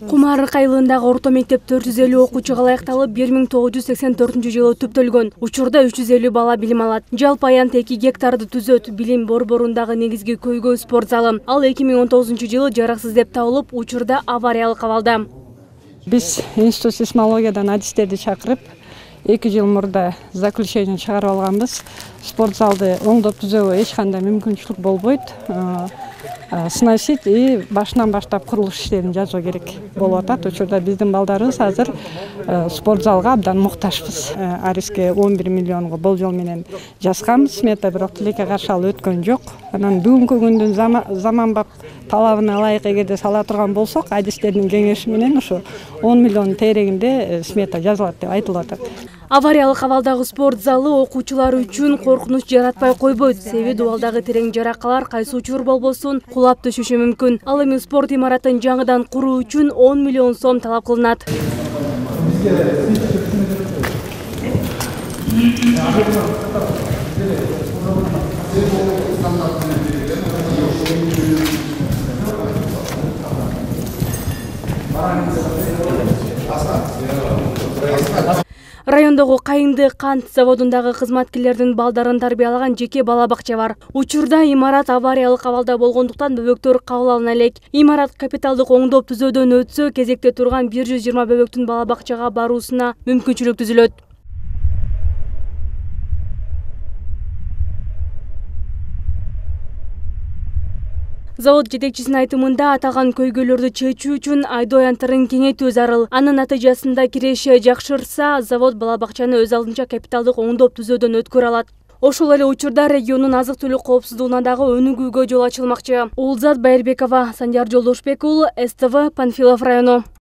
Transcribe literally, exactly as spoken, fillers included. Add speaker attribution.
Speaker 1: Кумарык айылындагы орто мектеп төрт жүз элүү окуучуга ылайыкталып, бир миң тогуз жүз сексен төртүнчү жылы түптөлгөн. Учурда үч жүз элүү бала билим алат. Жалпы аянт эки гектарды түзөт. Билим борборундагы негизги көйгөй спорт залы. Ал эки миң он тогузунчу жылы жараксыз деп табылып, учурда авариялык абалда.
Speaker 2: Биз институт сейсмологиядан адистерди чакырып, эки жыл мурда заключение чыгарып алганбыз. Спорт залды оңдоп түзөөгө эч кандай мүмкүнчүлүк болбойт. Сносить и башынан баштап курулуш иштерин жасоо керек болуп атат. Учурда биздин балдарыбыз азыр спорт залга абдан муктажбыз. Ариске он бир миллионго болжол менен жазганбыз смета, бирок тилекке каршы алып өткөн жок. Анан бүгүнкү күндүн заманбап талабына ылайык эгерде сала турган болсок, адистердин кеңеши менен ушу он миллион тегерегинде смета жазылат деп айтылып атат.
Speaker 1: Авариялык абалдагы спорт залы окуучулар үчүн коркунуч жаратпай койбойт. Себеби дубалдагы терең жаракалар кайсы учур болбосун кулап түшүшү мүмкүн. Ал эми спорт имаратын жаңыдан куруу үчүн он миллион сом талап кылынат. Райондогу Кайынды кант заводундагы кызматкерлердин балдарын тарбиялаган жеке бала бакча бар. Учурда имарат авариялык абалда болгондуктан бөбөктөр кабыл алына элек. Имарат капиталдык оңдоп түзөөдөн өтсө, кезекте турган бир жүз жыйырма бөбөктүн бала бакчага баруусуна мүмкүнчүлүк түзүлөт. Завод жетекчисинин айтымында аталган көйгөйлөрдү чечүү үчүн айдоо аянттарын кеңейтүү зарыл. Анын натыйжасында киреше жакшырса, завод бала бакчаны өз алдынча капиталдык оңдоп түзөөдөн өткөрө алат. Ошол эле учурда региондун азык-түлүк коопсуздугуна дагы өнүгүүгө жол ачылмакчы. Улзат Байырбекова, Сандияр Жолдошбек уулу, С Т В, Панфилов району.